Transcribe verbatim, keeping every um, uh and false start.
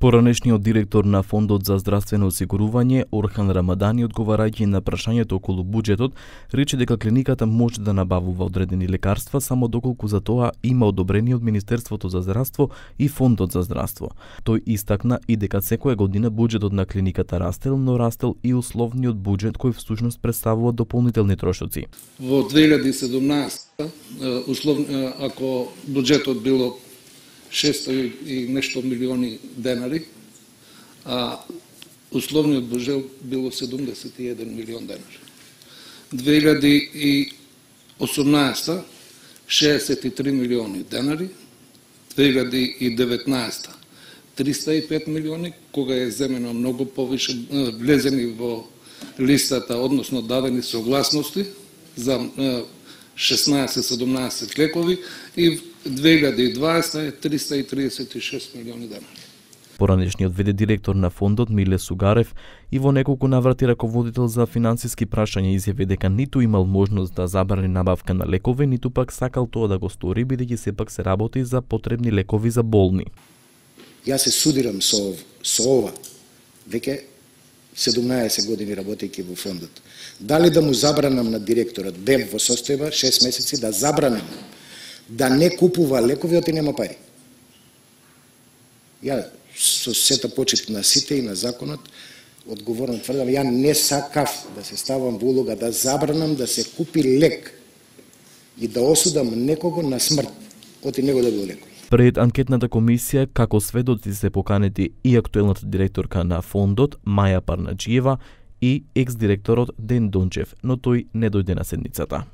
Поранешниот директор на Фондот за здравствено осигурување Орхан Рамадани, одговарајќи на прашањето околу буџетот, рече дека клиниката може да набавува одредени лекарства само доколку за тоа има одобрение од Министерството за здравство и Фондот за здравство. Тој истакна и дека секоја година буџетот на клиниката растел, но растел и условниот буџет кој всушност представува дополнителни трошоци. Во две илјади и седумнаесета, условно, ако буџетот било шесто и нешто милиони денари, а условниот буџет било седумдесет и еден милион денари. две илјади и осумнаесета шеесет и три милиони денари, две илјади и деветнаесета триста и пет милиони, кога е земено многу повише, влезени во листата, односно дадени согласности за шеснаесет-седумнаесет лекови, и две илјади и дваесета е триста и триесет и шест милиони денари. Поранешниот ве де директор на фондот Миле Сугарев и во неколку наврати раководител за финансиски прашања изјави дека ниту имал можност да забрани набавка на лекови, ниту пак сакал тоа да го стори, бидејќи сепак се работи за потребни лекови за болни. Јас се судирам со, ов, со ова, веќе седумнаесет години работејќи во фондот. Дали да му забранам на директорот, бев во состојба шест месеци да забранам да не купува лекови, оти нема пари. Ја со сета почит на сите и на законот одговорно тврдам, ја не сакав да се ставам во улога да забранам да се купи лек и да осудам некого на смрт, оти него да било лекови. Пред анкетната комисија, како сведоци се поканети и актуелната директорка на фондот Маја Парнаџиева и екс-директорот Ден Дончев, но тој не дојде на седницата.